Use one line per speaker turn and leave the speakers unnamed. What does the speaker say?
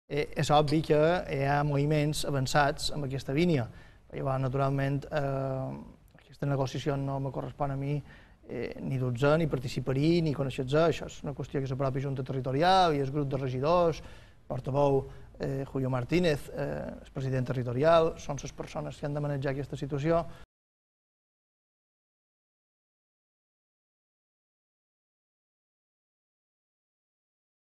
És obvi que hi ha moviments avançats en aquesta línia. Llavors, naturalment, aquesta negociació no me correspon a mi ni dur-se, ni participar-hi, ni conèixer-se. Això és una qüestió que és la pròpia Junta Territorial i el grup de regidors, portaveu Julio Martínez, el president territorial, són les persones que han de manejar aquesta situació.